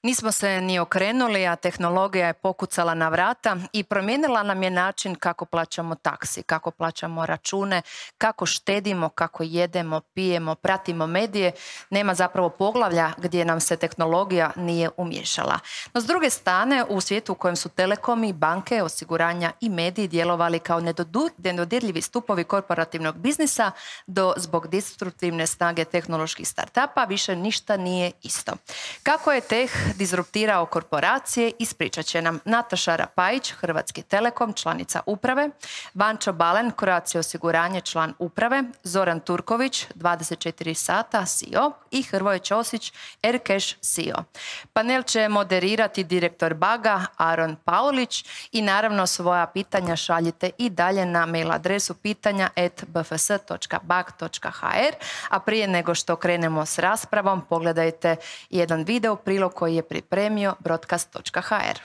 Nismo se ni okrenuli, a tehnologija je pokucala na vrata i promijenila nam je način kako plaćamo taksi, kako plaćamo račune, kako štedimo, kako jedemo, pijemo, pratimo medije. Nema zapravo poglavlja gdje nam se tehnologija nije umiješala. No, s druge strane, u svijetu u kojem su telekomi, banke, osiguranja i mediji djelovali kao nedodirljivi stupovi korporativnog biznisa, zbog destruktivne snage tehnoloških startupa više ništa nije isto. Kako je teh disruptirao korporacije, ispričat će nam Nataša Rapajić, Hrvatski telekom, članica uprave, Vančo Balen, Croatia osiguranje, član uprave, Zoran Turković, 24 sata, CEO i Hrvoje Ćosić, Aircash, CEO. Panel će moderirati direktor Baga, Aron Paulić i naravno svoja pitanja šaljite i dalje na mail adresu pitanja@bfs.bag.hr, a prije nego što krenemo s raspravom, pogledajte jedan video prilog koji je pripremio broadcast.hr.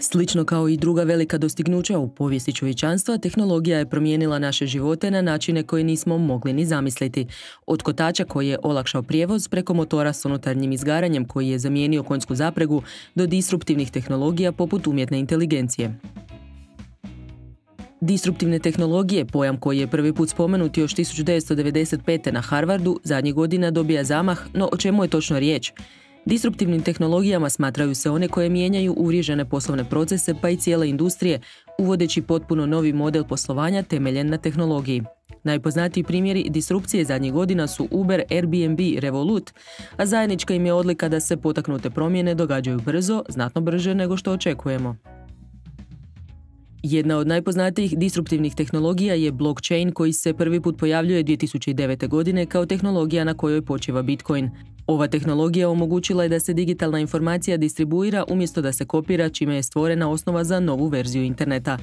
Slično kao i druga velika dostignuća u povijesti čovječanstva, tehnologija je promijenila naše živote na načine koje nismo mogli ni zamisliti. Od kotača koji je olakšao prijevoz, preko motora s unutarnjim izgaranjem koji je zamijenio konjsku zapregu, do disruptivnih tehnologija poput umjetne inteligencije. Disruptivne tehnologije, pojam koji je prvi put spomenut još 1995. na Harvardu, zadnjih godina dobija zamah, no o čemu je točno riječ? Disruptivnim tehnologijama smatraju se one koje mijenjaju uvriježene poslovne procese pa i cijele industrije, uvodeći potpuno novi model poslovanja temeljen na tehnologiji. Najpoznatiji primjeri disrupcije zadnjih godina su Uber, Airbnb, Revolut, a zajednička im je odlika da se potaknute promjene događaju brzo, znatno brže nego što očekujemo. Jedna od najpoznatijih disruptivnih tehnologija je blockchain koji se prvi put pojavljuje 2009. godine kao tehnologija na kojoj počiva Bitcoin. Ova tehnologija omogućila je da se digitalna informacija distribuira umjesto da se kopira, čime je stvorena osnova za novu verziju interneta.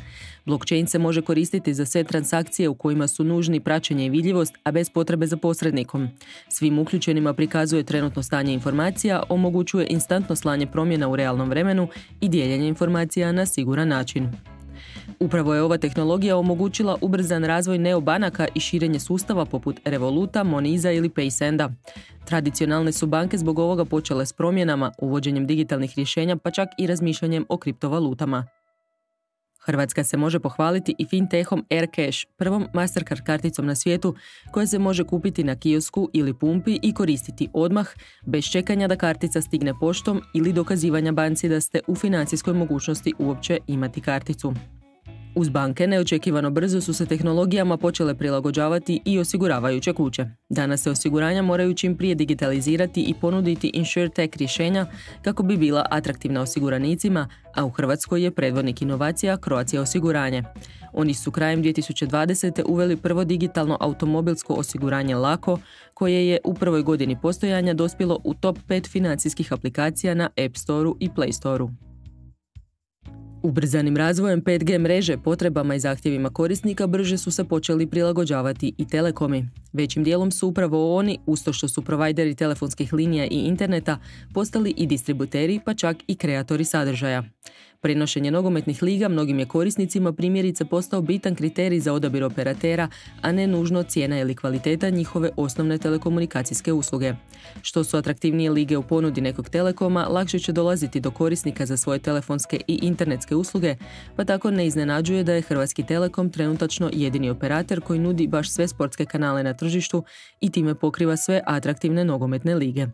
Blockchain se može koristiti za sve transakcije u kojima su nužni praćenje i vidljivost, a bez potrebe za posrednikom. Svim uključenima prikazuje trenutno stanje informacija, omogućuje instantno slanje promjena u realnom vremenu i dijeljenje informacija na siguran način. Upravo je ova tehnologija omogućila ubrzan razvoj neobanaka i širenje sustava poput Revoluta, Moniza ili Paysenda. Tradicionalne su banke zbog ovoga počele s promjenama, uvođenjem digitalnih rješenja pa čak i razmišljanjem o kriptovalutama. Hrvatska se može pohvaliti i fintechom Aircash, prvom Mastercard karticom na svijetu koja se može kupiti na kiosku ili pumpi i koristiti odmah, bez čekanja da kartica stigne poštom ili dokazivanja banci da ste u financijskoj mogućnosti uopće imati karticu. Uz banke neočekivano brzo su se tehnologijama počele prilagođavati i osiguravajuće kuće. Danas se osiguranja moraju čim prije digitalizirati i ponuditi InsurTech rješenja kako bi bila atraktivna osiguranicima, a u Hrvatskoj je predvodnik inovacija Croatia osiguranje. Oni su krajem 2020. uveli prvo digitalno automobilsko osiguranje Lako, koje je u prvoj godini postojanja dospjelo u top 5 financijskih aplikacija na App Store-u i Play Store-u. Ubrzanim razvojem 5G mreže, potrebama i zahtjevima korisnika brže su se počeli prilagođavati i telekomi. Većim dijelom su upravo oni, uz to što su provajderi telefonskih linija i interneta, postali i distributeri pa čak i kreatori sadržaja. Prenošenje nogometnih liga mnogim je korisnicima primjerice postao bitan kriterij za odabir operatera, a ne nužno cijena ili kvaliteta njihove osnovne telekomunikacijske usluge. Što su atraktivnije lige u ponudi nekog telekoma, lakše će dolaziti do korisnika za svoje telefonske i internetske usluge, pa tako ne iznenađuje da je Hrvatski telekom trenutačno jedini operator koji nudi baš sve sportske kanale na tržištu i time pokriva sve atraktivne nogometne lige.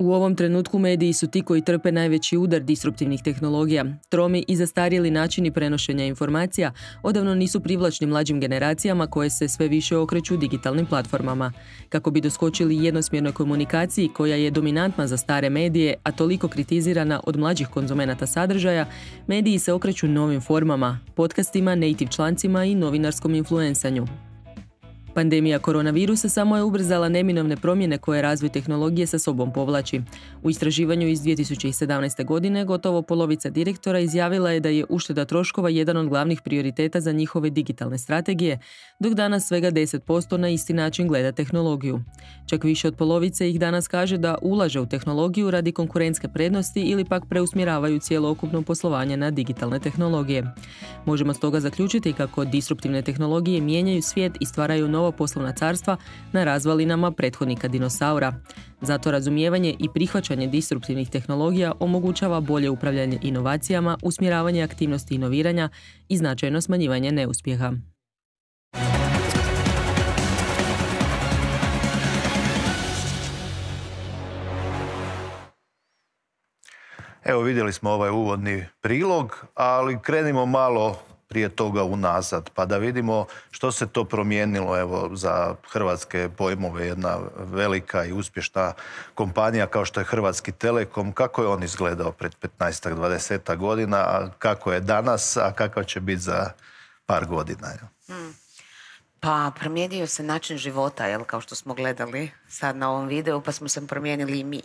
U ovom trenutku mediji su ti koji trpe najveći udar disruptivnih tehnologija. Tromi i zastarjeli načini prenošenja informacija odavno nisu privlačni mlađim generacijama koje se sve više okreću digitalnim platformama. Kako bi doskočili jednosmjernoj komunikaciji koja je dominantna za stare medije, a toliko kritizirana od mlađih konzumenata sadržaja, mediji se okreću novim formama, podcastima, native člancima i novinarskom influensanju. Pandemija koronavirusa samo je ubrzala neminovne promjene koje razvoj tehnologije sa sobom povlači. U istraživanju iz 2017. godine gotovo polovica direktora izjavila je da je ušteda troškova jedan od glavnih prioriteta za njihove digitalne strategije, dok danas svega 10% na isti način gleda tehnologiju. Čak više od polovice ih danas kaže da ulaže u tehnologiju radi konkurentske prednosti ili pak preusmjeravaju cjelokupno poslovanje na digitalne tehnologije. Možemo stoga zaključiti kako disruptivne tehnologije mijenjaju svijet i stvaraju nova poslovna carstva na razvalinama prethodnika dinosaura. Zato razumijevanje i prihvaćanje disruptivnih tehnologija omogućava bolje upravljanje inovacijama, usmjeravanje aktivnosti inoviranja i značajno smanjivanje neuspjeha. Evo, vidjeli smo ovaj uvodni prilog, ali krenimo malo prije toga unazad, pa da vidimo što se to promijenilo, evo, za hrvatske pojmove, jedna velika i uspješna kompanija kao što je Hrvatski Telekom. Kako je on izgledao pred 15-20 godina, a kako je danas, a kakav će biti za par godina? Pa promijenio se način života, kao što smo gledali sad na ovom videu, pa smo se promijenili i mi.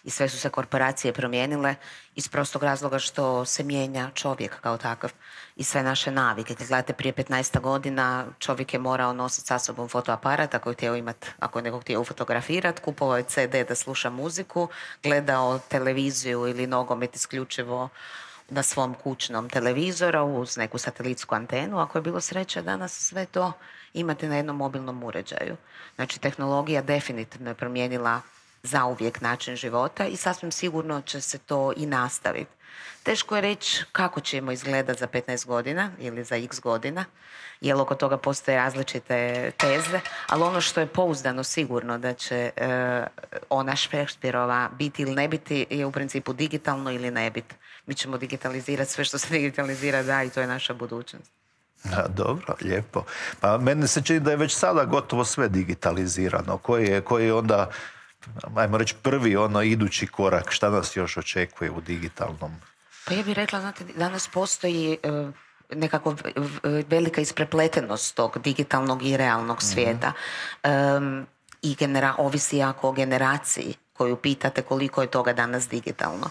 I sve su se korporacije promijenile iz prostog razloga što se mijenja čovjek kao takav i sve naše navike. Kad gledate prije 15 godina, čovjek je morao nositi sa sobom fotoaparat ako je htio imati, ako je nekog htio fotografirati, kupovao je CD da sluša muziku, gledao televiziju ili nogomet isključivo na svom kućnom televizoru uz neku satelitsku antenu. Ako je bilo sreće, danas sve to imate na jednom mobilnom uređaju. Znači, tehnologija definitivno je promijenila zauvijek način života i sasvim sigurno će se to i nastaviti. Teško je reći kako ćemo izgledati za 15 godina ili za x godina, jer oko toga postoje različite teze, ali ono što je pouzdano sigurno da će ona Šekspirova biti ili ne biti je u principu digitalno ili ne biti. Mi ćemo digitalizirati sve što se digitalizira da i to je naša budućnost. Dobro, lijepo. Pa meni se čini da je već sada gotovo sve digitalizirano. Koji je onda, ajmo reći, prvi idući korak? Šta nas još očekuje u digitalnom? Pa ja bih rekla, znate, danas postoji nekako velika isprepletenost tog digitalnog i realnog svijeta. I ovisi jako o generaciji koju pitate koliko je toga danas digitalno.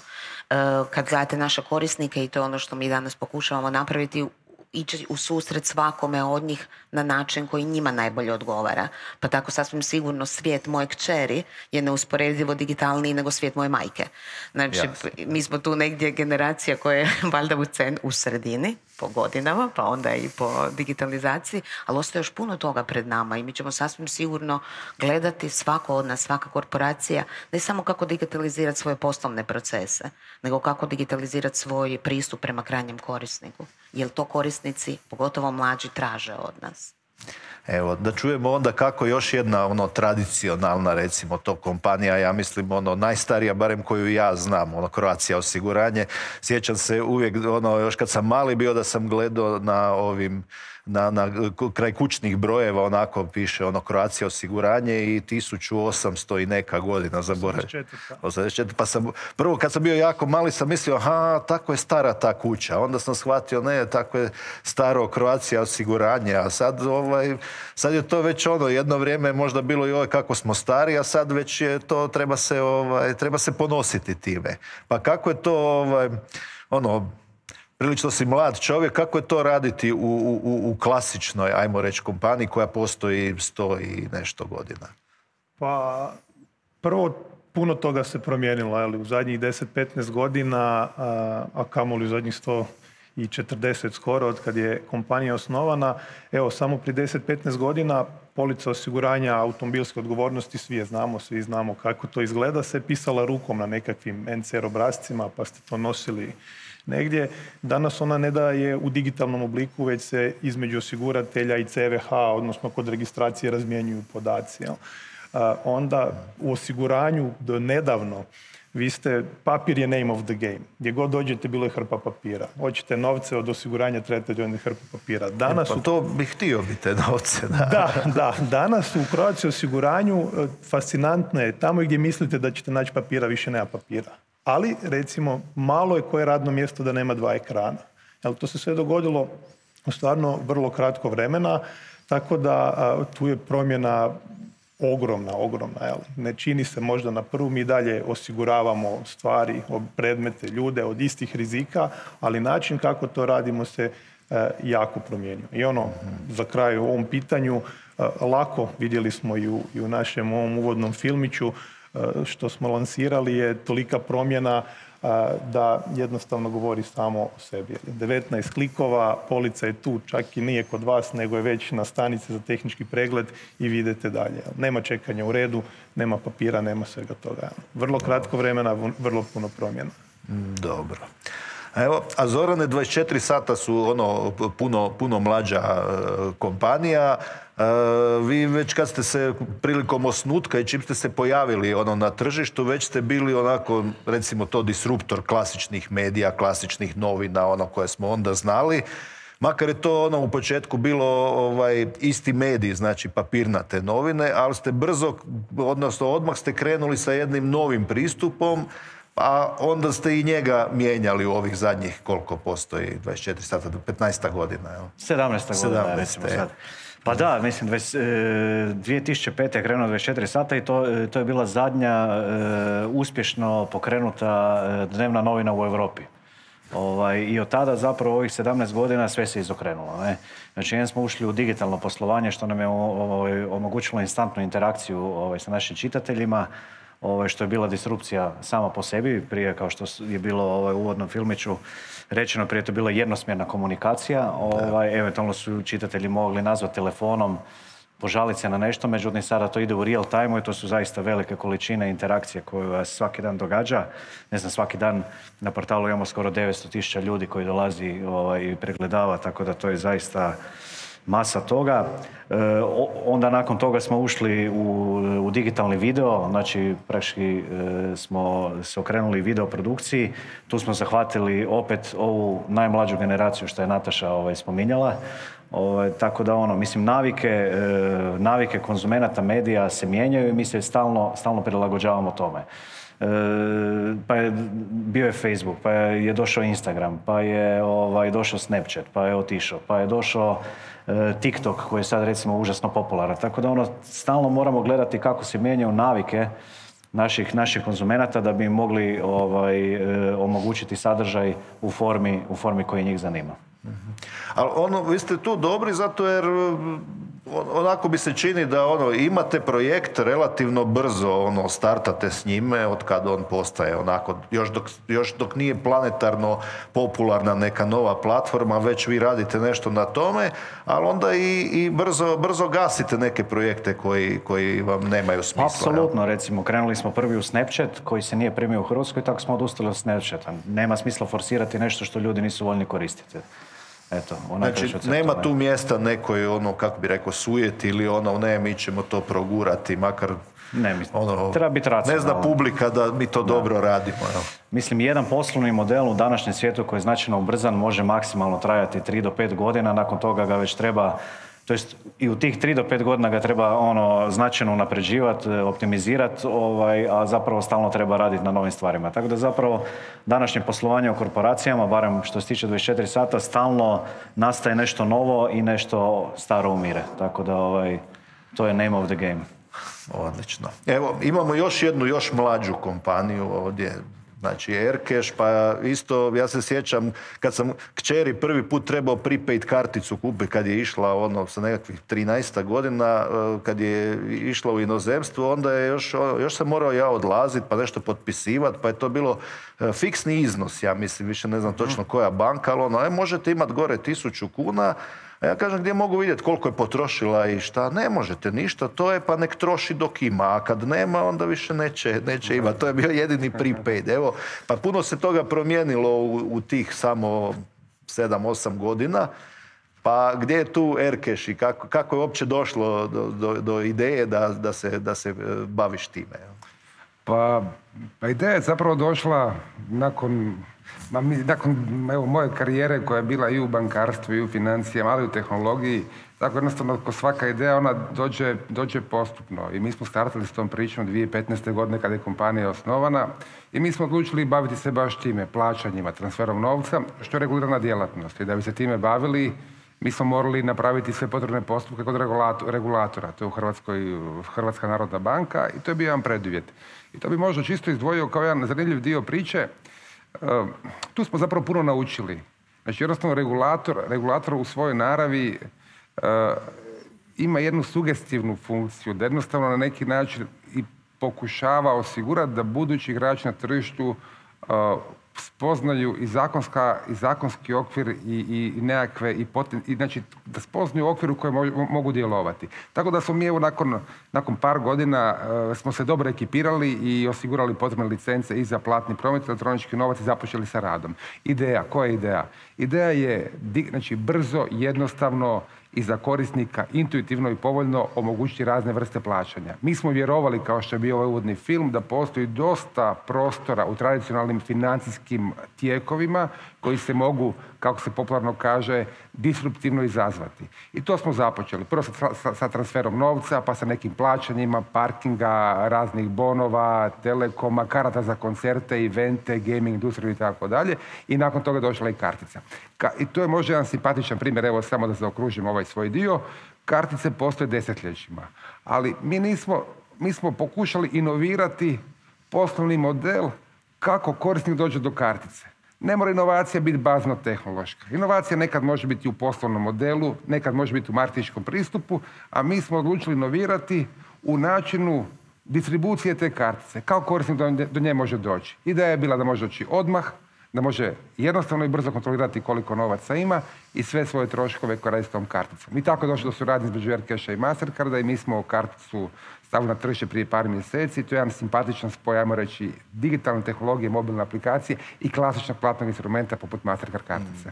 Kad gledate naše korisnike, i to je ono što mi danas pokušavamo napraviti, ići u susret svakome od njih na način koji njima najbolje odgovara. Pa tako sasvim sigurno svijet moje kćeri je neusporedivo digitalniji nego svijet moje majke. Znači, mi smo tu negdje generacija koja je valjda u sredini, po godinama, pa onda i po digitalizaciji, ali ostaje još puno toga pred nama i mi ćemo sasvim sigurno gledati svako od nas, svaka korporacija, ne samo kako digitalizirati svoje poslovne procese, nego kako digitalizirati svoj pristup prema krajnjem korisniku. Jer to korisnici, pogotovo mlađi, traže od nas. Evo, da čujemo onda kako još jedna tradicionalna, recimo, to kompanija, ja mislim najstarija, barem koju ja znam, Croatia osiguranje. Sjećam se uvijek, još kad sam mali bio, da sam gledao na ovim, kraj kućnih brojeva, onako piše Croatia osiguranje i 1800 i neka godina, zaboravim. 84. Pa sam, prvo kad sam bio jako mali sam mislio, aha, tako je stara ta kuća. Onda sam shvatio, ne, tako je staro Croatia osiguranje, a sad je to već jedno vrijeme možda bilo i kako smo stari, a sad već je to, treba se ponositi time. Pa kako je to, prilično si mlad čovjek, kako je to raditi u klasičnoj, ajmo reći, kompaniji koja postoji 100 i nešto godina? Pa, prvo, puno toga se promijenilo, u zadnjih 10-15 godina, a kamoli u zadnjih 140 skoro, od kad je kompanija osnovana. Evo, samo prije 10-15 godina polica osiguranja automobilske odgovornosti, svi znamo kako to izgleda, se pisala rukom na nekakvim NCR obrascima, pa ste to nosili negdje. Danas ona ne da je u digitalnom obliku, već se između osiguratelja i CVH, odnosno kod registracije, razmjenjuju podaci. Onda u osiguranju do nedavno papir je name of the game. Gdje god dođete, bilo je hrpa papira. Hoćete novce od osiguranja, trebate donijeti hrpu papira. Pa to bih htio biti te novce. Da. Danas u Croatia osiguranju fascinantno je, tamo gdje mislite da ćete naći papira, više nema papira. Ali, recimo, malo je koje radno mjesto da nema 2 ekrana. To se sve dogodilo u stvarno vrlo kratko vremena. Tako da tu je promjena ogromna. Ne čini se možda na prvu, mi dalje osiguravamo stvari, predmete, ljude od istih rizika, ali način kako to radimo se jako promijenio. I za kraj u ovom pitanju, lako, vidjeli smo i u našem ovom uvodnom filmiću, što smo lansirali je tolika promjena da jednostavno govori samo o sebi. 19 klikova, polica je tu, čak i nije kod vas, nego je već na stanici za tehnički pregled i vidite dalje. Nema čekanja u redu, nema papira, nema svega toga. Vrlo kratko vremena, vrlo puno promjena. Dobro. Evo, a Zorane, 24 sata su puno mlađa kompanija. Vi već kad ste se prilikom osnutka i čim ste se pojavili na tržištu, već ste bili onako, recimo to, disruptor klasičnih medija, klasičnih novina, koje smo onda znali. Makar je to u početku bilo isti medij, znači papirnate novine, ali ste brzo, odnosno odmah ste krenuli sa jednim novim pristupom, a onda ste i njega mijenjali u ovih zadnjih, koliko postoji, 24 sata do 15 godina. 17 godina, recimo sad. Pa da, mislim, 2005. je krenuo 24 sata i to je bila zadnja uspješno pokrenuta dnevna novina u Europi. I od tada zapravo ovih 17 godina sve se izokrenulo. Znači, jedan smo ušli u digitalno poslovanje što nam je omogućilo instantnu interakciju sa našim čitateljima, što je bila disrupcija sama po sebi, prije kao što je bilo u uvodnom filmiću rečeno, prije to je bila jednosmjerna komunikacija, eventualno su čitatelji mogli nazvati telefonom, požaliti se na nešto, međutim sada to ide u real time i to su zaista velike količine interakcije koje vas svaki dan događa. Ne znam, svaki dan na portalu imamo skoro 900.000 ljudi koji dolazi i pregledava, tako da to je zaista masa toga. Onda nakon toga smo ušli u digitalni video, znači praktički smo se okrenuli video produkciji. Tu smo zahvatili opet ovu najmlađu generaciju što je Nataša spominjala. Tako da mislim, navike konzumenata medija se mijenjaju i mi se stalno prilagođavamo tome. Pa je bio je Facebook, pa je došao Instagram, pa je došao Snapchat, pa je otišao, pa je došao TikTok koji je sad recimo užasno popularan. Tako da stalno moramo gledati kako se mijenjaju navike naših konzumenata da bi im mogli omogućiti sadržaj u formi koji njih zanima. Ali vi ste tu dobri zato jer onako bi se čini da imate projekt relativno brzo startate s njime od kad on postaje onako, još dok nije planetarno popularna neka nova platforma, već vi radite nešto na tome, ali onda i brzo gasite neke projekte koji vam nemaju smisla. Apsolutno, recimo krenuli smo prvi u Snapchat koji se nije primio u Hrvatskoj, tako smo odustali od Snapchata. Nema smisla forsirati nešto što ljudi nisu voljni koristiti. Eto, znači, nema tu mjesta nekoj, kako bi rekao, sujeti ili ne, mi ćemo to progurati, makar treba biti racionalno. Ne zna publika da mi to dobro radimo. Mislim, jedan poslovni model u današnjem svijetu koji je značajno ubrzan može maksimalno trajati 3 do 5 godina, nakon toga ga već treba, to jest i u tih 3 do 5 godina ga treba značajno unapređivati, optimizirati, a zapravo stalno treba raditi na novim stvarima. Tako da zapravo današnje poslovanje u korporacijama, barem što se tiče 24 sata, stalno nastaje nešto novo i nešto staro umire. Tako da to je name of the game. Odlično. Evo, imamo još mlađu kompaniju ovdje. Znači Aircash, pa isto ja se sjećam kad sam kćeri prvi put trebao prepaid karticu kupiti kad je išla sa nekakvih 13 godina, kad je išla u inozemstvo, onda je još sam morao ja odlaziti pa nešto potpisivati, pa je to bilo fiksni iznos, ja mislim, više ne znam točno koja banka, ali možete imati gore 1000 kuna, a ja kažem gdje mogu vidjeti koliko je potrošila i šta, ne možete ništa, to je pa nek troši dok ima, a kad nema onda više neće imati. To je bio jedini prepaid. Evo, pa puno se toga promijenilo u tih samo 7-8 godina. Pa gdje je tu Aircash i kako je uopće došlo do ideje da se baviš time? Pa ideja je zapravo došla nakon moje karijere koja je bila i u bankarstvu i u financijama, ali i u tehnologiji. Tako jednostavno, ko svaka ideja, ona dođe postupno. I mi smo startali s tom pričom 2015. godine kada je kompanija osnovana i mi smo odlučili baviti se baš time, plaćanjima, transferom novca, što je regulirana djelatnost. I da bi se time bavili, mi smo morali napraviti sve potrebne postupke kod regulatora. To je u Hrvatskoj Hrvatska narodna banka i to je bio jedan preduvjet. I to bi možda čisto izdvojio kao jedan zanimljiv dio priče. Tu smo zapravo puno naučili. Znači, jednostavno regulator u svojoj naravi ima jednu sugestivnu funkciju, da jednostavno na neki način i pokušava osigurati da budući igrači na tržištu spoznaju i zakonski okvir i nekakve, znači da spoznaju okvir u kojem mogu djelovati. Tako da smo mi evo nakon par godina smo se dobro ekipirali i osigurali potrebne licence i za platni promet, elektronički novac i započeli sa radom. Ideja, koja je ideja? Ideja je znači, brzo, jednostavno i za korisnika intuitivno i povoljno omogućiti razne vrste plaćanja. Mi smo vjerovali, kao što je bio ovaj uvodni film, da postoji dosta prostora u tradicionalnim financijskim tijekovima koji se mogu, kako se popularno kaže, disruptivno izazvati. I to smo započeli. Prvo sa transferom novca, pa sa nekim plaćanjima, parkinga, raznih bonova, telekoma, karata za koncerte, evente, gaming industriju i tako dalje. I nakon toga došla i kartica. I to je možda jedan simpatičan primjer, evo samo da zaokružim ovaj svoj dio. Kartice postoje desetljećima, ali mi smo pokušali inovirati poslovni model kako korisnik dođe do kartice. Ne mora inovacija biti bazno tehnološka. Inovacija nekad može biti u poslovnom modelu, nekad može biti u marketinškom pristupu, a mi smo odlučili inovirati u načinu distribucije te kartice. Kako korisnik do nje može doći? Ideja je bila da može doći odmah, da može jednostavno i brzo kontrolirati koliko novaca ima i sve svoje troškove koje radi s tom karticom. I tako je došlo do suradnje između Aircasha i Mastercarda i mi smo karticu stavili na tržište prije par mjeseci. To je jedan simpatičan spoj, ajmo reći, digitalne tehnologije, mobilne aplikacije i klasičnog platnog instrumenta poput Mastercard kartice.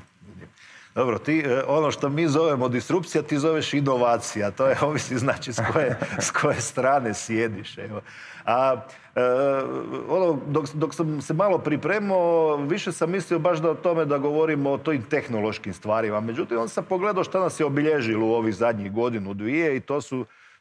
Dobro, ti ono što mi zovemo disrupcija, ti zoveš inovacija. To je ovisi znači s koje strane sjediš. Evo. Dok sam se malo pripremao, više sam mislio baš o tome da govorimo o tojim tehnološkim stvarima. Međutim, onda sam pogledao šta nas je obilježilo u ovih zadnjih godinu, dvije i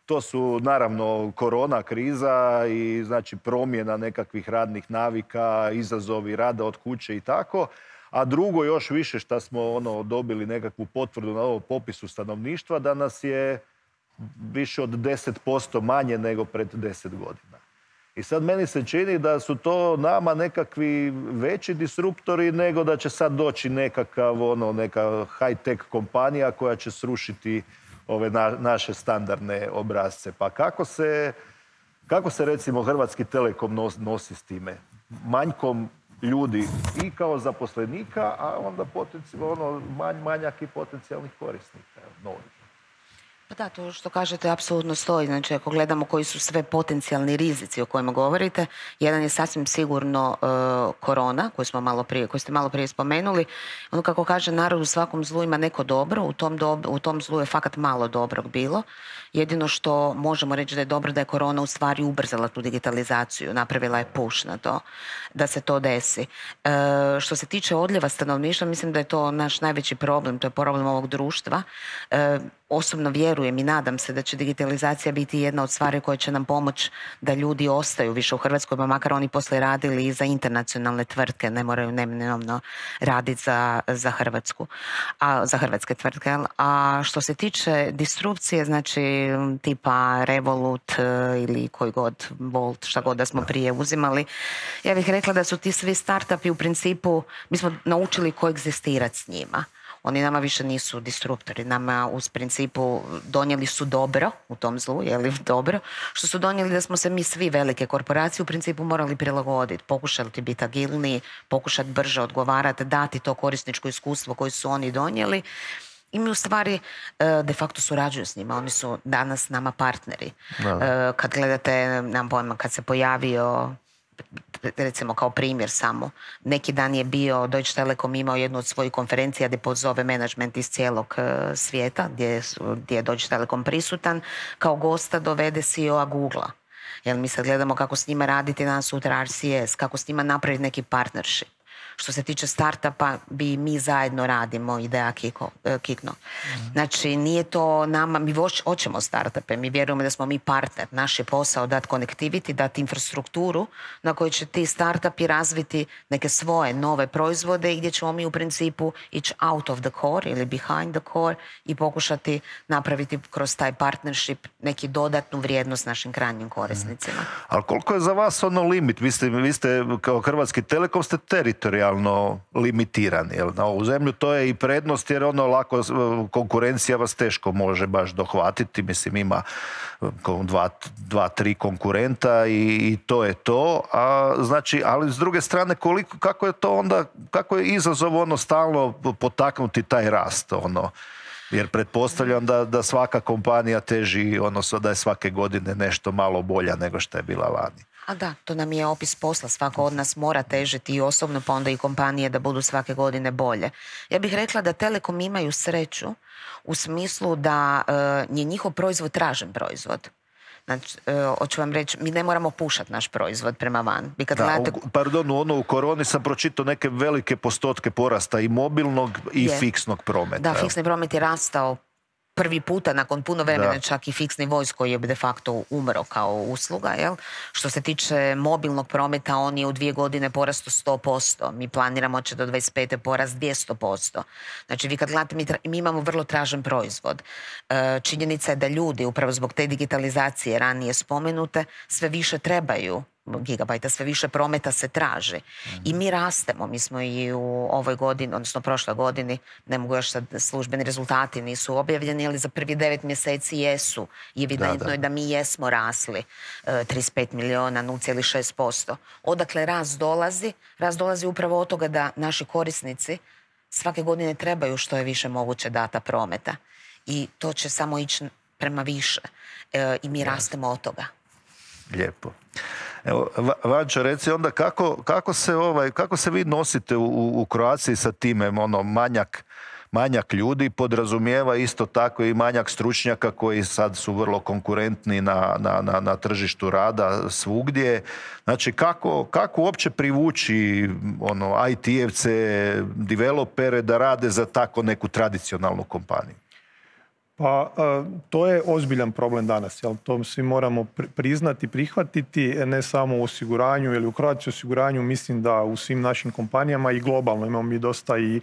to su naravno korona kriza i znači promjena nekakvih radnih navika, izazovi rada od kuće i tako. A drugo još više što smo dobili nekakvu potvrdu na ovom popisu stanovništva da nas je više od 10% manje nego pred 10 godina. I sad meni se čini da su to nama nekakvi veći disruptori nego da će sad doći neka high-tech kompanija koja će srušiti ove naše standardne obrazce. Pa kako se recimo Hrvatski Telekom nosi s time? Manjkom ljudi i kao zaposlenika, a onda manjak i potencijalnih korisnika novih. Pa da, to što kažete apsolutno stoji. Znači, ako gledamo koji su sve potencijalni rizici o kojima govorite, jedan je sasvim sigurno korona, koju ste malo prije spomenuli. Ono kako kaže narod, u svakom zlu ima neko dobro, u tom zlu je fakat malo dobrog bilo. Jedino što možemo reći da je dobro da je korona u stvari ubrzala tu digitalizaciju, napravila je push na to, da se to desi. Što se tiče odljeva stanovništva, mislim da je to naš najveći problem, to je problem ovog društva. Osobno vjerujem i nadam se da će digitalizacija biti jedna od stvari koje će nam pomoći da ljudi ostaju više u Hrvatskoj, pa makar oni poslije radili i za internacionalne tvrtke, ne moraju neminovno raditi za Hrvatsku, za hrvatske tvrtke. A što se tiče disrupcije, znači tipa Revolut ili koji god, Volt, šta god da smo prije uzimali, ja bih rekla da su ti svi startupi u principu, mi smo naučili koegzistirati s njima. Oni nama više nisu disruptori, nama uz principu donijeli su dobro u tom zlu, dobro, što su donijeli da smo se mi svi velike korporacije u principu morali prilagoditi, pokušati biti agilniji, pokušati brže odgovarati, dati to korisničko iskustvo koje su oni donijeli. I mi u stvari de facto surađuju s njima, oni su danas nama partneri. Kad gledate, nemam pojma, kad se pojavio, recimo kao primjer samo, neki dan je bio Deutsche Telekom imao jednu od svojih konferencija gdje pozove menadžment iz cijelog svijeta, gdje je Deutsche Telekom prisutan, kao gosta dovede CEO-a Google-a. Jer mi sad gledamo kako s njima raditi danas sutra RCS, kako s njima napraviti neki partnership. Što se tiče startupa, mi zajedno radimo, ideja Kikno. Znači, nije to nama, mi hoćemo startupe, mi vjerujemo da smo mi partner. Naš je posao dati connectivity, dati infrastrukturu na kojoj će ti startupi razviti neke svoje nove proizvode i gdje ćemo mi u principu ići out of the core ili behind the core i pokušati napraviti kroz taj partnership neki dodatnu vrijednost našim krajnjim korisnicima. Ali koliko je za vas ono limit? Vi ste kao Hrvatski Telekom ste teritorijalno limitirani. Jel? Na ovu zemlju to je i prednost jer ono lako konkurencija vas teško može baš dohvatiti. Mislim ima dva, tri konkurenta i to je to. Znači, ali s druge strane kako je to onda, kako je izazov ono stalno potaknuti taj rast ono? Jer pretpostavljam da svaka kompanija teži, odnosno da je svake godine nešto malo bolja nego što je bila lani. A da, to nam je opis posla. Svako od nas mora težiti i osobno, pa onda i kompanije da budu svake godine bolje. Ja bih rekla da Telekom imaju sreću u smislu da je njihov proizvod tražen proizvod. Znači, hoću vam reći, mi ne moramo pušati naš proizvod prema van. U koroni sam pročitao neke velike postotke porasta i mobilnog i fiksnog prometa. Da, fiksni promet je rastao prvi puta nakon puno vremena, čak i fiksni voice koji je de facto umro kao usluga. Jel? Što se tiče mobilnog prometa, on je u 2 godine porastao 100%. Mi planiramo će do 25. porast 200%. Znači, vi kad gledate, mi imamo vrlo tražen proizvod. Činjenica je da ljudi, upravo zbog te digitalizacije ranije spomenute, sve više trebaju gigabajta, sve više prometa se traži. I mi rastemo. Mi smo i u ovoj godini, odnosno prošloj godini, ne mogu još sad, službeni rezultati nisu objavljeni, ali za prvi 9 mjeseci jesu. I evidentno je da mi jesmo rasli 35 miliona, 0,6%. Odakle rast dolazi? Rast dolazi upravo od toga da naši korisnici svake godine trebaju što je više moguće data prometa. I to će samo ići prema više. I mi rastemo od toga. Lijepo. Evo, Vanča, reci onda kako se vi nosite u Croatii sa time, ono, manjak ljudi podrazumijeva isto tako i manjak stručnjaka koji sad su vrlo konkurentni na tržištu rada svugdje. Znači, kako uopće privući IT-evce, developere da rade za tako neku tradicionalnu kompaniju? Pa to je ozbiljan problem danas, jel? To svi moramo priznati, prihvatiti, ne samo u osiguranju ili u Croatia osiguranju, mislim da u svim našim kompanijama i globalno. Imamo mi dosta i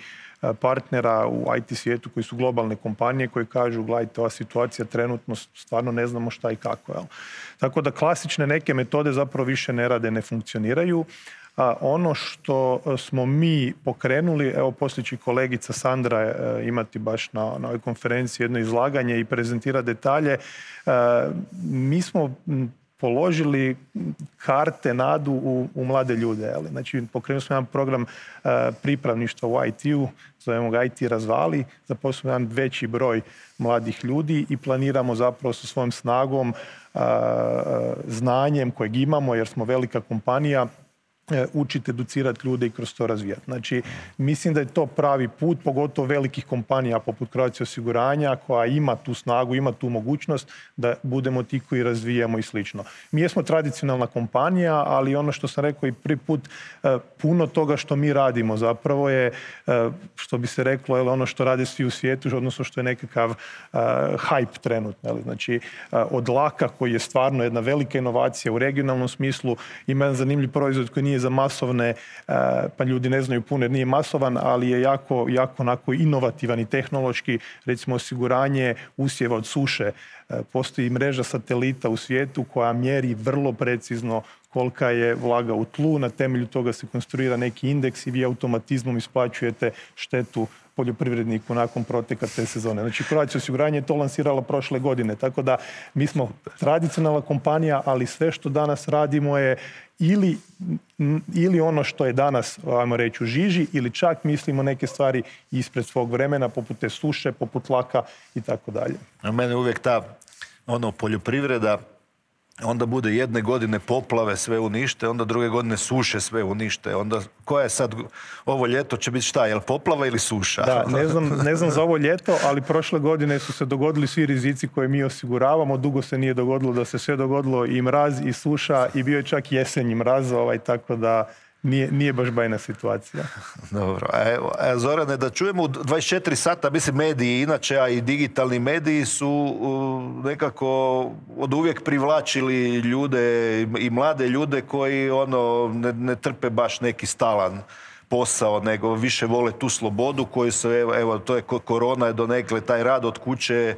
partnera u IT svijetu koji su globalne kompanije koji kažu gledajte, ova situacija trenutno stvarno ne znamo šta i kako. Jel? Tako da klasične neke metode zapravo više ne rade, ne funkcioniraju. Ono što smo mi pokrenuli, evo poslije će kolegica Sandra imati baš na ovoj konferenciji jedno izlaganje i prezentira detalje, mi smo položili karte, nadu u mlade ljude. Znači, pokrenuli smo jedan program pripravništva u IT-u, zovemo ga IT razvali, zaposlimo jedan veći broj mladih ljudi i planiramo zapravo sa svojom snagom, znanjem kojeg imamo jer smo velika kompanija, učiti, educirati ljude i kroz to razvijati. Znači, mislim da je to pravi put, pogotovo velikih kompanija poput Croatia osiguranja, koja ima tu snagu, ima tu mogućnost da budemo ti koji razvijamo i slično. Mi jesmo tradicionalna kompanija, ali ono što sam rekao i prvi put, puno toga što mi radimo zapravo je, što bi se reklo, ono što rade svi u svijetu, odnosno što je nekakav hype trenutno. Znači, od laka, koji je stvarno jedna velika inovacija u regionalnom smislu, ima jedan zanimljiv proizvod koji nije za masovne, pa ljudi ne znaju puno jer nije masovan, ali je jako onako inovativan i tehnološki, recimo osiguranje usjeva od suše. Postoji mreža satelita u svijetu koja mjeri vrlo precizno kolika je vlaga u tlu, na temelju toga se konstruira neki indeks i vi automatizmom isplaćujete štetu poljoprivredniku nakon proteka te sezone. Znači, Croatia osiguranje je to lansirala prošle godine, tako da mi smo tradicionalna kompanija, ali sve što danas radimo je ili ono što je danas, ajmo reći, u žiži, ili čak mislimo neke stvari ispred svog vremena, poput te suše, poput laka i tako dalje. A mene uvijek ta poljoprivreda, onda bude jedne godine poplave, sve unište, onda druge godine suše, sve unište. Onda koja je sad, ovo ljeto će biti šta, je li poplava ili suša? Da, ne znam za ovo ljeto, ali prošle godine su se dogodili svi rizici koje mi osiguravamo. Dugo se nije dogodilo da se sve dogodilo, i mraz i suša, i bio je čak jesenji mraz, tako da nije baš bajna situacija. Dobro. Zorane, da čujemo u 24 sata, mislim, mediji inače, a i digitalni mediji su nekako od uvijek privlačili ljude i mlade ljude koji ne trpe baš neki stalan posao, nego više vole tu slobodu koju se, evo, to je korona je donekle, taj rad od kuće,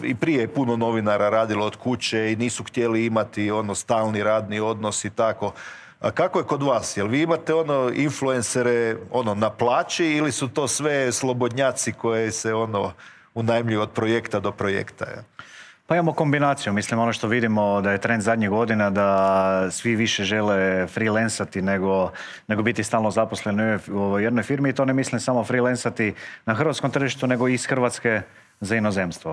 i prije je puno novinara radilo od kuće i nisu htjeli imati stalni radni odnos i tako. A kako je kod vas? Jel vi imate influencere na plaći ili su to sve slobodnjaci koje se unajmljuju od projekta do projekta? Ja? Pa imamo kombinaciju. Mislim, ono što vidimo da je trend zadnjih godina da svi više žele freelancati nego biti stalno zaposleni u jednoj firmi. I to ne mislim samo freelancati na hrvatskom tržištu, nego i iz Hrvatske za inozemstvo.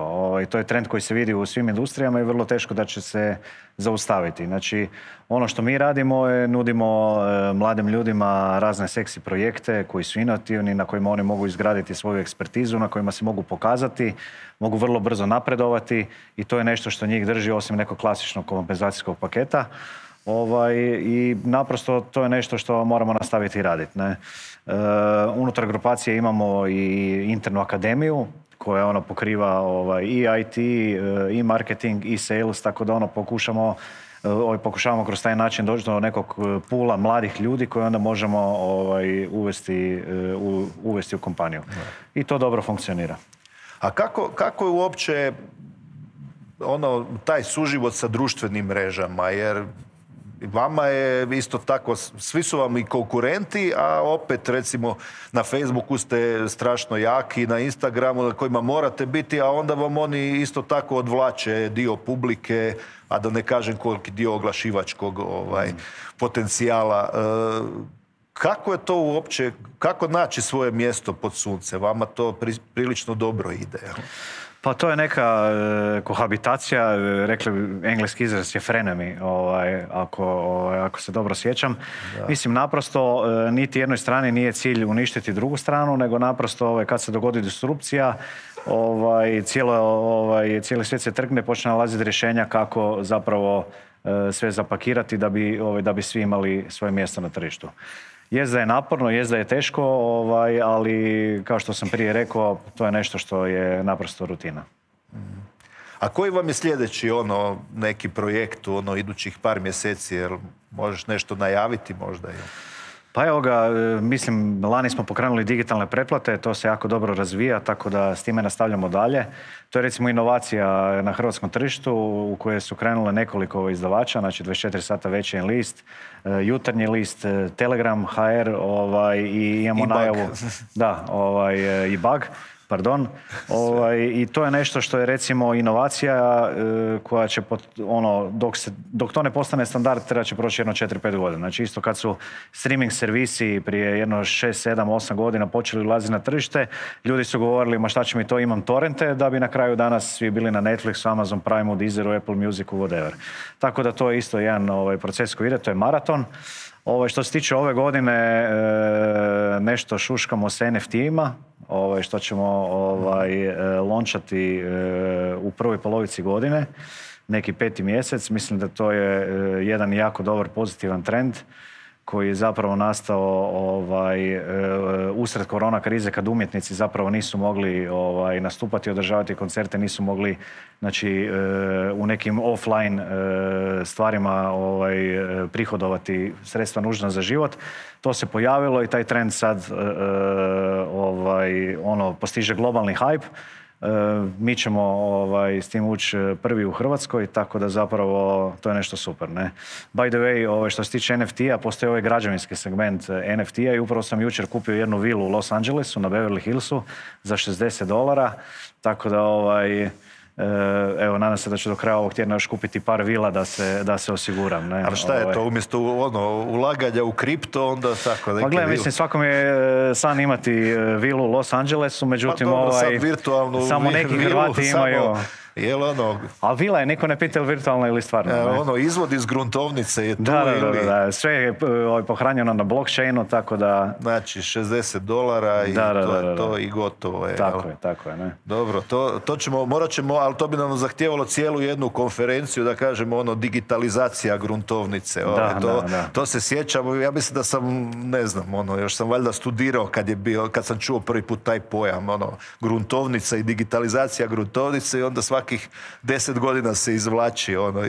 To je trend koji se vidi u svim industrijama i vrlo teško da će se zaustaviti. Znači, ono što mi radimo je nudimo mladim ljudima razne seksi projekte koji su inovativni, na kojima oni mogu izgraditi svoju ekspertizu, na kojima se mogu pokazati, mogu vrlo brzo napredovati i to je nešto što njih drži osim nekog klasičnog kompenzacijskog paketa. I naprosto to je nešto što moramo nastaviti raditi. Unutar grupacije imamo i internu akademiju koja pokriva i IT, i marketing, i sales, tako da pokušavamo kroz taj način doći do nekog pula mladih ljudi koje onda možemo uvesti u kompaniju. I to dobro funkcionira. A kako je uopće taj suživot sa društvenim mrežama? Jer vama je isto tako, svi su vam i konkurenti, a opet recimo na Facebooku ste strašno jaki, na Instagramu na kojima morate biti, a onda vam oni isto tako odvlače dio publike, a da ne kažem koliki dio oglašivačkog potencijala. Kako je to uopće, kako naći svoje mjesto pod sunce? Vama to prilično dobro ide. Pa to je neka kohabitacija, rekli engleski izraz je frenemy, ako se dobro sjećam. Da. Mislim, naprosto niti jednoj strani nije cilj uništiti drugu stranu, nego naprosto kad se dogodi disrupcija, cijeli svijet se trgne, počne nalaziti rješenja kako zapravo sve zapakirati da bi svi imali svoje mjesto na tržištu. Jest da je naporno, jest da je teško, ali kao što sam prije rekao, to je nešto što je naprosto rutina. A koji vam je sljedeći neki projekt idućih par mjeseci? Jer možeš nešto najaviti možda? Pa evo ga, mislim, lani smo pokrenuli digitalne pretplate, to se jako dobro razvija, tako da s time nastavljamo dalje. To je recimo inovacija na hrvatskom tržištu u kojoj su krenule nekoliko izdavača, znači 24 sata Večernji list, Jutarnji list, Telegram, HR i imamo najavu. Da, i Bug. Pardon. I to je nešto što je recimo inovacija koja će, dok to ne postane standard, treba će proći jedno 4-5 godina. Znači isto kad su streaming servisi prije jedno 6, 7, 8 godina počeli ulaziti na tržište, ljudi su govorili, ma šta će mi to, imam torrente, da bi na kraju danas svi bili na Netflixu, Amazon Primeu, Deezeru, Apple Musicu, whatever. Tako da to je isto jedan proces koji ide, to je maraton. Što se tiče ove godine, nešto šuškamo s NFT-ima, što ćemo launchati u prvoj polovici godine, neki 5. mjesec. Mislim da to je jedan jako dobar pozitivan trend koji je zapravo nastao usred korona krize kad umjetnici zapravo nisu mogli nastupati, održavati koncerte, nisu mogli u nekim offline stvarima prihodovati sredstva nužna za život. To se pojavilo i taj trend sad postiže globalni hype. Mi ćemo s tim ući prvi u Hrvatskoj, tako da zapravo to je nešto super. Ne? By the way, što se tiče NFT-a, postoji ovaj građevinski segment NFT-a i upravo sam jučer kupio jednu vilu u Los Angelesu na Beverly Hillsu za $60, tako da evo, nadam se da ću do kraja ovog tjedna još kupiti par vila da se osiguram. Ne? Ali šta je to, umjesto ulaganja u kripto, onda tako neki pa gledaj, mislim, svakom je san imati vilu u Los Angelesu, međutim, pa dobro, sad virtualnu samo neki Hrvati imaju. Jel ono... A vila je, niko ne pita virtualna ili stvarno. Ono, izvod iz gruntovnice je tu ili... Da, sve je pohranjeno na blockchainu, tako da... Znači, $60 i to je to i gotovo je. Tako je, ne. Dobro, to ćemo, morat ćemo, ali to bi nam zahtijevalo cijelu jednu konferenciju, da kažemo, ono, digitalizacija gruntovnice. To se sjećam, ja mislim da sam, ne znam, ono, još sam valjda studirao kad sam čuo prvi put taj pojam, ono, gruntovnica i digitalizacija gruntovnice i onda svakih 10 godina se izvlači, ono,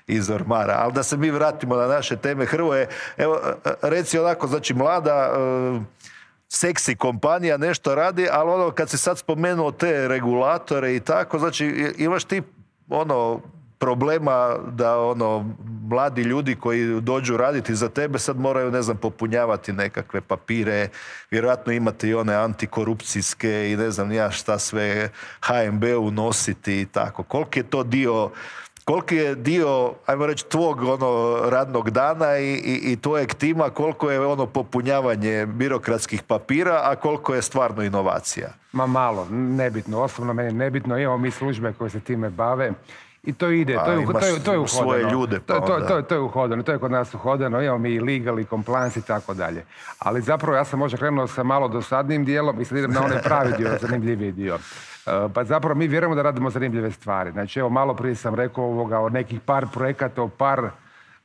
iz ormara. Ali da se mi vratimo na naše teme. Hrvoje, evo, reci onako, znači, mlada, seksi kompanija nešto radi, ali ono, kad si sad spomenuo te regulatore i tako, znači, imaš ti, ono, problema da, ono, mladi ljudi koji dođu raditi za tebe sad moraju, ne znam, popunjavati nekakve papire, vjerojatno imate i one antikorupcijske i ne znam ja šta sve HNB-u nositi i tako. Koliki je dio, ajmo reći, tvog ono radnog dana i tvojeg tima, koliko je ono popunjavanje birokratskih papira, a koliko je stvarno inovacija? Ma malo, nebitno. Osobno meni nebitno. Imamo mi službe koje se time bave. I to ide, to je uhodano. Svoje ljude, pa to je uhodano, to je kod nas uhodano, imamo mi i legal i compliance i tako dalje. Ali zapravo ja sam možda krenuo sa malo dosadnim dijelom i sad idem na onaj pravi dio, zanimljiviji dio. Pa zapravo mi vjerujemo da radimo zanimljive stvari. Znači evo malo prije sam rekao o nekih par projekata,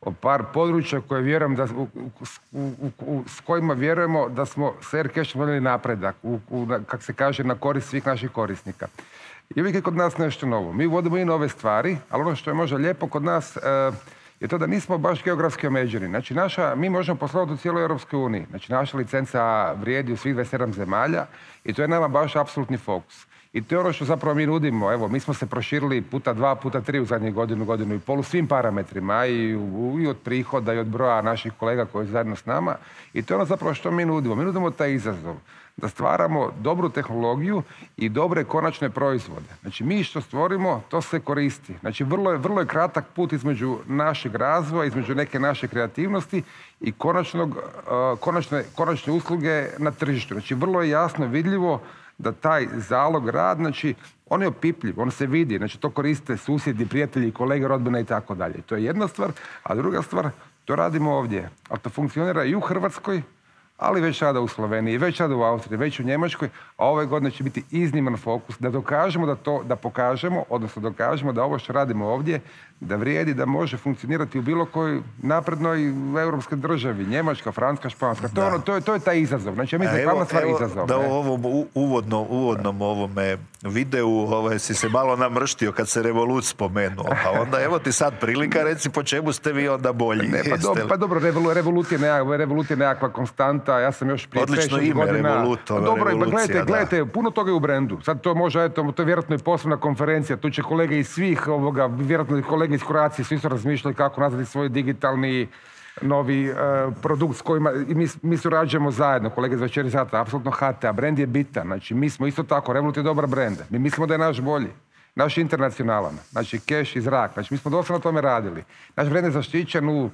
o par područja koje vjerujem da, s kojima vjerujemo da smo s Aircashom donijeli napredak, kako se kaže, na korist svih naših korisnika. I uvijek je kod nas nešto novo. Mi vodimo i nove stvari, ali ono što je možda lijepo kod nas je to da nismo baš geografski omeđeni. Znači, mi možemo poslovati u cijeloj Europskoj uniji. Znači, naša licenca vrijedi u svih 27 zemalja i to je nama baš apsolutni fokus. I to je ono što zapravo mi nudimo. Evo, mi smo se proširili puta 2, puta 3 u zadnjih godinu i pol u svim parametrima i od prihoda i od broja naših kolega koji su zajedno s nama. I to je ono zapravo što mi nudimo. Mi nudimo taj izazov da stvaramo dobru tehnologiju i dobre konačne proizvode. Znači, mi što stvorimo, to se koristi. Znači, vrlo je kratak put između našeg razvoja, između neke naše kreativnosti i konačne usluge na tržištu. Znači, vrlo je jasno vidljivo da taj zalog rad, znači, on je opipljiv, on se vidi, znači, to koriste susjedi, prijatelji, kolege, rodbina i tako dalje. To je jedna stvar, a druga stvar, to radimo ovdje. Ali to funkcionira i u Hrvatskoj, ali već sada u Sloveniji, već sada u Austriji, već u Njemačkoj, a ove godine će biti izniman fokus da dokažemo da pokažemo, odnosno dokažemo da ovo što radimo ovdje, da vrijedi, da može funkcionirati u bilo kojoj naprednoj europskoj državi, Njemačka, Francuska, Španska. To je taj izazov. Znači, ja mislim glavna stvar izazov. Da u ovom uvodnom ovome videu si se malo namrštio kad se Revolut spomenuo. Pa onda evo ti sad prilika, reci po čemu ste vi onda bolji. Pa dobro, Revolut je nekakva konstanta. Ja sam još prije 5-6 godina... Revolut, dobro, gledajte, puno toga je u brendu. Sad to može, to je vjerojatno i poslovna konferencija. Tu će kolege iz svih vjerojatno i kolege iz Croacije, svi su razmišljali kako nazvati svoj digitalni novi produkt s kojima mi surađujemo zajedno, kolege iz 24 sata, apsolutno HT, a brend je bitan. Znači, mi smo isto tako, Revolut je dobar brend. Mi mislimo da je naš bolji. Naš je internacionalan, znači cash i zrak. Znači, mi smo dosta na tome radili. Naš brend je zaštićen u,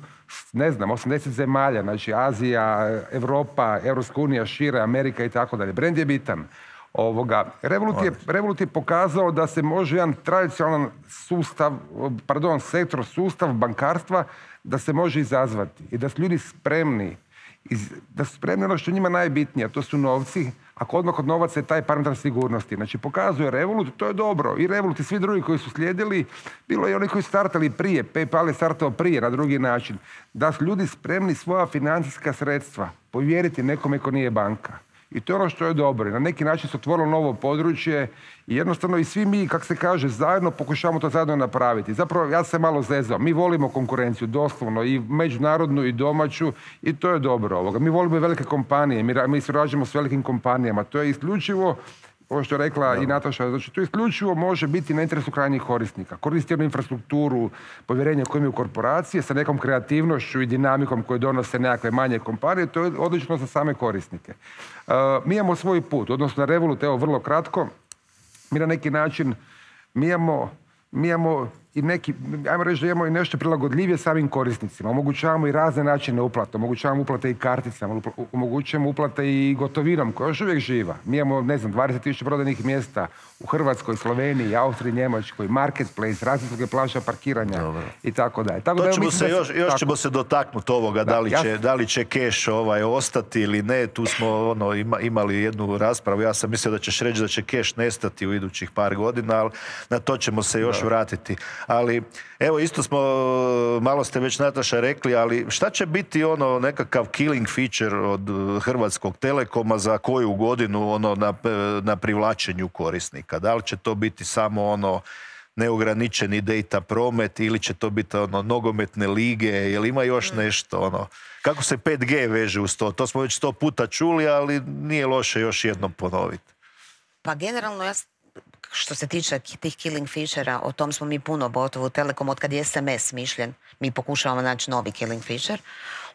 ne znam, 80 zemalja, znači Azija, Evropa, Europska unija, šire, Amerika i tako dalje. Brend je bitan. Revolut je pokazao da se može jedan tradicionalan sustav bankarstva da se može izazvati i da su ljudi spremni, ono što je njima najbitnije, a to su novci, ako odmah od novaca je taj parametar sigurnosti. Znači, pokazuje Revolut, to je dobro. I Revolut i svi drugi koji su slijedili, bilo i oni koji su startali prije, PayPal je startao prije na drugi način, da su ljudi spremni svoja financijska sredstva povjeriti nekome ko nije banka. I to je ono što je dobro. Na neki način se otvorilo novo područje i jednostavno i svi mi, kako se kaže, zajedno pokušavamo to zajedno napraviti. Zapravo, ja se malo zezao. Mi volimo konkurenciju, doslovno, i međunarodnu i domaću, i to je dobro. Mi volimo i velike kompanije, mi surađujemo s velikim kompanijama. To je isključivo, ovo što je rekla i Nataša, znači to isključivo može biti na interesu krajnjih korisnika. Koristiti jednu infrastrukturu, povjerenje koje imaju korporacije sa nekom kreativnošću i dinamikom koje donose nekakve manje kompanije, to je odlično za same korisnike. Mi imamo svoj put, odnosno na Revolut, evo vrlo kratko, mi na neki način, mi imamo i neki, ajmo reći da imamo i nešto prilagodljivije samim korisnicima. Omogućavamo i razne načine uplate, omogućavamo uplate i karticama, omogućujemo uplate i gotovinom koja je još uvijek živa. Mi imamo, 20.000 prodajnih mjesta u Hrvatskoj, Sloveniji, Austriji, Njemačkoj, marketplace, razne usluge plaća, parkiranja i tako dalje. Još ćemo se dotaknuti ovoga, da li će keš ostati ili ne. Tu smo imali jednu raspravu. Ja sam mislio da ćeš reći da će keš nestati u idućih par godina, ali na to ćemo se još vratiti. Ali evo, isto smo, malo ste već Nataša rekli, ali šta će biti nekakav killing feature od Hrvatskog Telekoma za koju godinu na privlačenju korisnika? Da li će to biti samo neograničeni data promet ili će to biti nogometne lige, jel ima još nešto kako se 5G veže uz to? To smo već 100 puta čuli, ali nije loše još jednom ponoviti. Pa generalno što se tiče tih killing feature-a, o tom smo mi puno gotovo u Telekom, od kad je SMS smišljen, mi pokušavamo naći novi killing feature.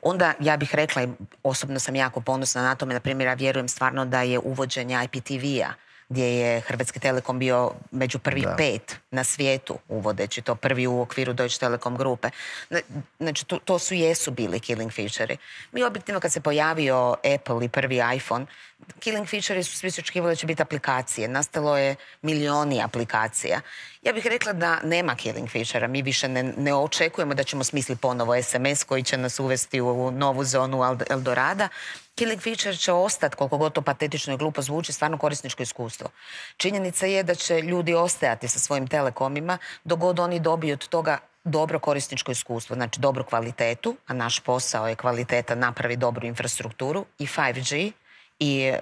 Onda ja bih rekla, i osobno sam jako ponosna na tome, na primjer, ja vjerujem stvarno da je uvođenje IPTV-a, gdje je Hrvatski Telekom bio među prvih 5 na svijetu, uvodeći to prvi u okviru Deutsche Telekom grupe. Znači, to jesu bili killing feature-i. Mi objektivno kad se pojavio Apple i prvi iPhone, killing feature-i su svi očekivali da će biti aplikacije. Nastalo je milioni aplikacija. Ja bih rekla da nema killing feature-a. Mi više ne očekujemo da ćemo smisliti ponovo SMS koji će nas uvesti u novu zonu Eldorada. Killing feature će ostati, koliko god to patetično i glupo zvuči, stvarno korisničko iskustvo. Činjenica je da će ljudi ostajati sa svojim telekomima dok god oni dobiju od toga dobro korisničko iskustvo, znači dobru kvalitetu, a naš posao je kvaliteta napravi dobru infrastrukturu i 5G i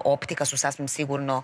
optika su sasvim sigurno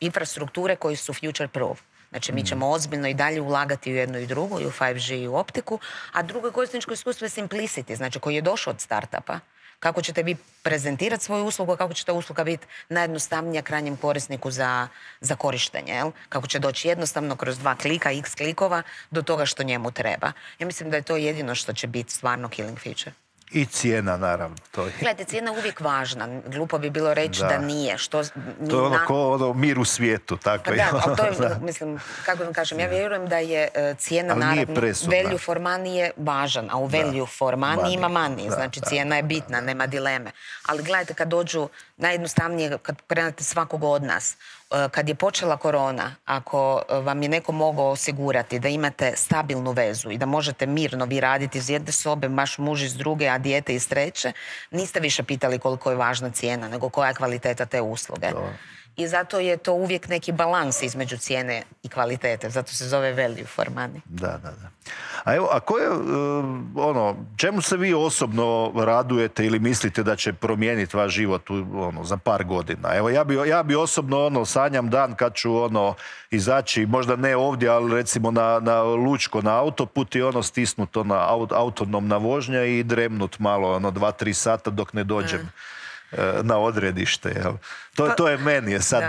infrastrukture koji su future proof. Znači, mi ćemo ozbiljno i dalje ulagati u jednu i drugu, i u 5G i u optiku, a drugo korisničko iskustvo je simplicity, znači koji je došao od startupa. Kako ćete vi prezentirati svoju uslugu, kako će ta usluga biti najjednostavnija krajnjem korisniku za korištenje. Jel? Kako će doći jednostavno kroz 2 klika, x klikova do toga što njemu treba. Ja mislim da je to jedino što će biti stvarno killing feature. I cijena, naravno. Gledajte, cijena je uvijek važna. Glupo bi bilo reći da nije. To je ko mir u svijetu. Tako pa ali to je, mislim, kako vam kažem, ja vjerujem da je cijena, naravno, value for money je važan, a u value for money ima money. Znači, cijena je bitna, nema dileme. Ali gledajte, kad dođu najjednostavnije, kad krenete svakog od nas, kad je počela korona, ako vam je neko mogao osigurati da imate stabilnu vezu i da možete mirno vi raditi iz jedne sobe, vaš muž iz druge, a dijete iz treće, niste više pitali koliko je važna cijena, nego koja je kvaliteta te usluge. I zato je to uvijek neki balans između cijene i kvalitete. Zato se zove value for money. Da. A koje, čemu se vi osobno radujete ili mislite da će promijeniti vaš život za par godina? Evo, ja bi osobno sanjam dan kad ću izaći, možda ne ovdje, ali recimo na Lučko, na autoput i stisnut autonomna vožnja i dremnut malo, 2-3 sata dok ne dođem na odredište. To je meni sad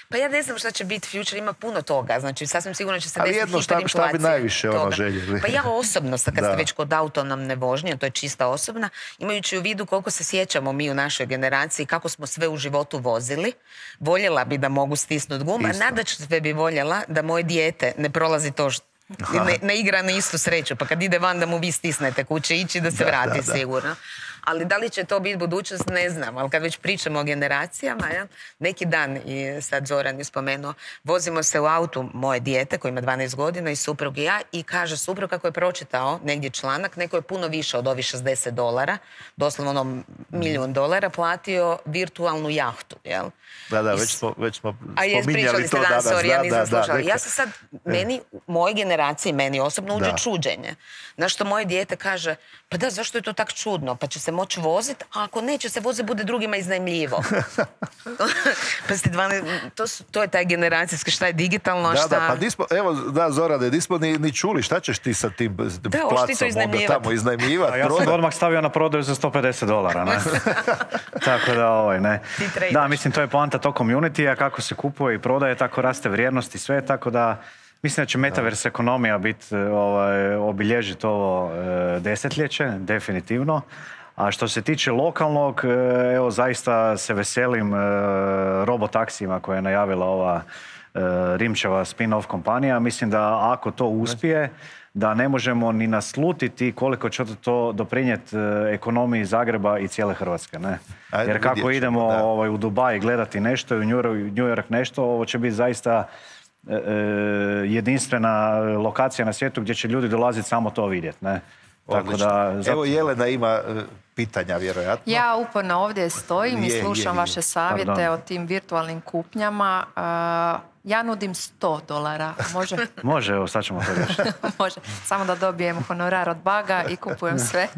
Pa ja ne znam šta će biti future, ima puno toga, znači sasvim sigurno će se desiti hiperinflacija. Ali šta bi najviše željeli? Pa ja osobno, kad ste već kod autonomne vožnje, to je čista osobna, imajući u vidu koliko se sjećamo mi u našoj generaciji, kako smo sve u životu vozili, voljela bi da mogu stisnuti guma, nadalje bi voljela da moje dijete ne prolazi to ne igra na istu sreću, pa kad ide van da mu vi stisnete kuće ići da se vrati sigurno. Ali da li će to biti budućnost, ne znam. Ali kad već pričamo o generacijama, neki dan, i sad Zoran je spomenuo, vozimo se u autu moje dijete koji ima 12 godina i suprug i ja, i kaže suprug kako je pročitao negdje članak, neko je puno više od ovih $60, doslovno $1.000.000, platio virtualnu jahtu. Jel? Da, već smo spominjali to danas. Ja nisam slušala. Ja se sad, moje generacije, meni osobno uđe čuđenje. Znaš što moje dijete kaže, pa da, zašto je to tak čudno? Pa će se moći voziti, a ako neće se voziti, bude drugima iznajmljivo. To je taj generacijski, šta je digitalno, a šta... Zorane, nismo ni čuli, šta ćeš ti sa tim placom tamo iznajmljivati? Ja sam odmah stavio na prodaju za $150, ne? Tako da, ne. Da, mislim, to je poanta tog community-a, kako se kupuje i prodaje, tako raste vrijednost i sve, tako da mislim da će metaverse ekonomija obilježiti ovo desetljeće, definitivno. A što se tiče lokalnog, evo zaista se veselim robotaksijima koje je najavila ova Rimčeva spin-off kompanija. Mislim da ako to uspije, da ne možemo ni naslutiti koliko će to doprinijeti ekonomiji Zagreba i cijele Hrvatske. Ne? Jer kako idemo u Dubai gledati nešto i u New York nešto, ovo će biti zaista jedinstvena lokacija na svijetu gdje će ljudi dolaziti samo to vidjeti. Ne? Tako da, Evo Jelena ima pitanja, vjerojatno. Ja uporno ovdje stojim i slušam vaše savjete o tim virtualnim kupnjama. Ja nudim $100. Može? Može, evo sad ćemo to riješiti. Može. Samo da dobijem honorar od Baga i kupujem sve.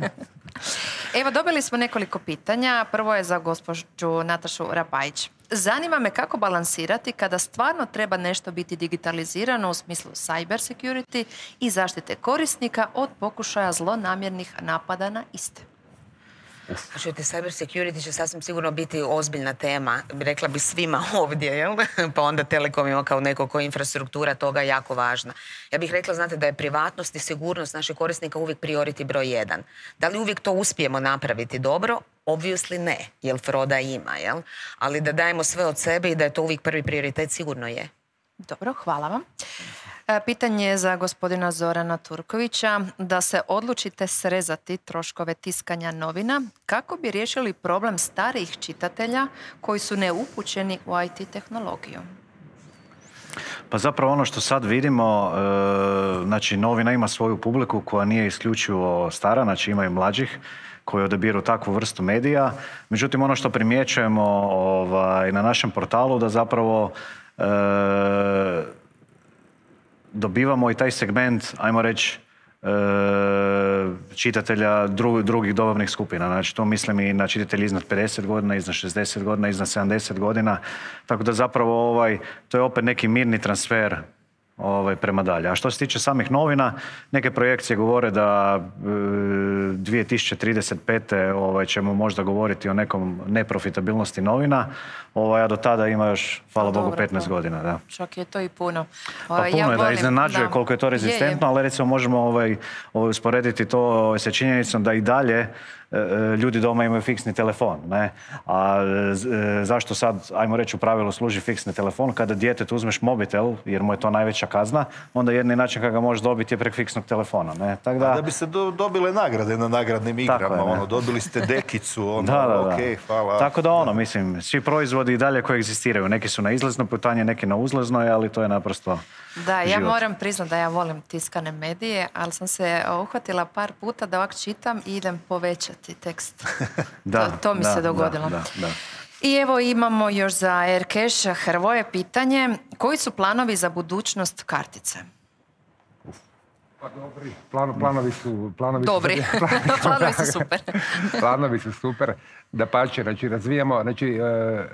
Evo, dobili smo nekoliko pitanja. Prvo je za gospođu Natašu Rapajić. Zanima me kako balansirati kada stvarno treba nešto biti digitalizirano u smislu cyber security i zaštite korisnika od pokušaja zlonamjernih napada na iste. Čujte, cyber security će sasvim sigurno biti ozbiljna tema, rekla bi svima ovdje, jel? Pa onda telekomima kao neko ko infrastruktura toga je jako važna. Ja bih rekla, znate, da je privatnost i sigurnost naših korisnika uvijek priority broj 1. Da li uvijek to uspijemo napraviti dobro? Obviously ne, jer froda ima, jel? Ali da dajemo sve od sebe i da je to uvijek prvi prioritet, sigurno je. Dobro, hvala vam. Pitanje je za gospodina Zorana Turkovića. Da se odlučite srezati troškove tiskanja novina, kako bi riješili problem starijih čitatelja koji su neupućeni u IT tehnologiju? Pa zapravo ono što sad vidimo, znači novina ima svoju publiku koja nije isključivo stara, znači ima i mlađih koji odabiru takvu vrstu medija. Međutim, ono što primjećujemo na našem portalu da zapravo dobivamo i taj segment, ajmo reći, čitatelja drugih dobavnih skupina. Znači, to mislim i na čitatelji iznad 50 godina, iznad 60 godina, iznad 70 godina. Tako da zapravo to je opet neki mirni transfer prema dalje. A što se tiče samih novina, neke projekcije govore da 2035. ćemo možda govoriti o nekom neprofitabilnosti novina, a do tada ima još, hvala Bogu, 15 godina. Da. Čak je to i puno. Pa puno je da iznenađuje koliko je to rezistentno, ali recimo možemo usporediti to sa činjenicom da i dalje ljudi doma imaju fiksni telefon. Ne? A zašto sad, ajmo reći, u pravilu služi fiksni telefon? Kada djetetu uzmeš mobitel, jer mu je to najveća kazna, onda jedini način kada ga možeš dobiti je prek fiksnog telefona. Ne? Tak da biste dobile nagrade na nagradnim igrama. Dobili ste dekicu, hvala. Tako da mislim, svi proizvodi i dalje koji egzistiraju. Neki su na izlaznoj putanji, neki na uzlaznoj, ali to je naprosto Da, ja život. moram priznati da ja volim tiskane medije, ali sam se uhvatila par puta da ovak čitam i idem povećati tekst. To mi se dogodilo. Da. I evo imamo još za Aircash Hrvoje pitanje. Koji su planovi za budućnost kartice? Pa dobri. Planovi su dobri. Planovi su super. Planovi su super. Dapače,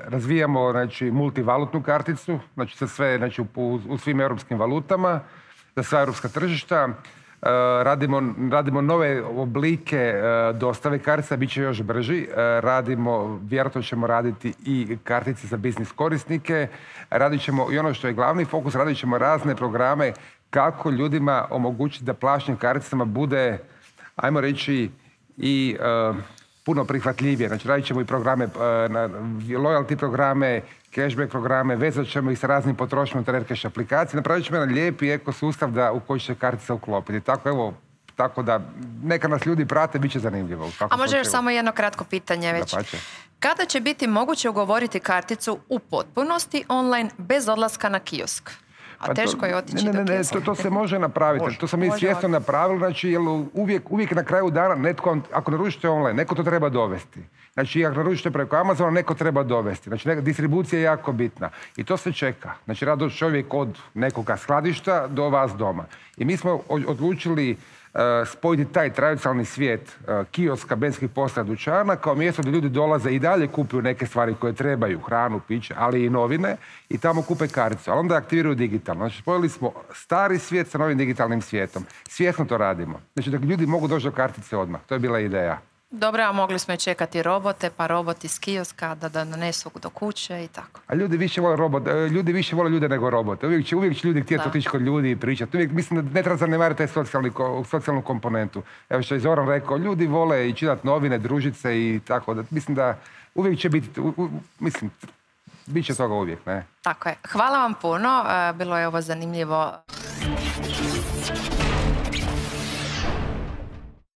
razvijamo multivalutnu karticu, znači sa sve u svim europskim valutama, za sva europska tržišta. Radimo nove oblike dostave kartica, bit će još brži. Vjerojatno ćemo raditi i kartice za biznis korisnike. Radit ćemo, i ono što je glavni fokus, radit ćemo razne programe kako ljudima omogućiti da plaćanje karticama bude, ajmo reći, i puno prihvatljivije. Znači, radit ćemo i programe, loyalty programe, cashback programe, vezat ćemo ih sa raznim potrošnjama unutar Aircash aplikacije. Napravit ćemo jedan lijepi ekosustav u koji će kartica uklopiti. Tako da neka nas ljudi prate, bit će zanimljivo. A može još samo jedno kratko pitanje već. Kada će biti moguće ugovoriti karticu u potpunosti online bez odlaska na kiosk? A teško je otići do kioska. To se može napraviti. To sam i svjesno napravili. Znači, uvijek na kraju dana netko, ako naručite online, neko to treba dovesti. Znači, ako naručite preko Amazona, neko treba dovesti. Znači, distribucija je jako bitna. I to se čeka. Znači, rado čovjek od nekoga skladišta do vas doma. I mi smo odlučili spojiti taj tradicionalni svijet kioska, benzinskih postaja, dućana kao mjesto gdje ljudi dolaze i dalje kupuju neke stvari koje trebaju, hranu, piće, ali i novine, i tamo kupe karticu. Ali onda aktiviraju digitalno. Znači, spojili smo stari svijet sa novim digitalnim svijetom. Svjesno to radimo. Znači, da ljudi mogu doći do kartice odmah. To je bila ideja. Dobro, a mogli smo i čekati robote, pa roboti iz kioska da donesu do kuće i tako. A ljudi više vole ljude nego robote. Uvijek će ljudi htjeti otići kod ljudi i pričati. Uvijek mislim da ne treba zanemariti taj socijalnu komponentu. Evo što je Zoran rekao, ljudi vole i čitati novine, družit se i tako. Mislim da uvijek će biti, Biće toga uvijek, ne? Tako je. Hvala vam puno, bilo je ovo zanimljivo.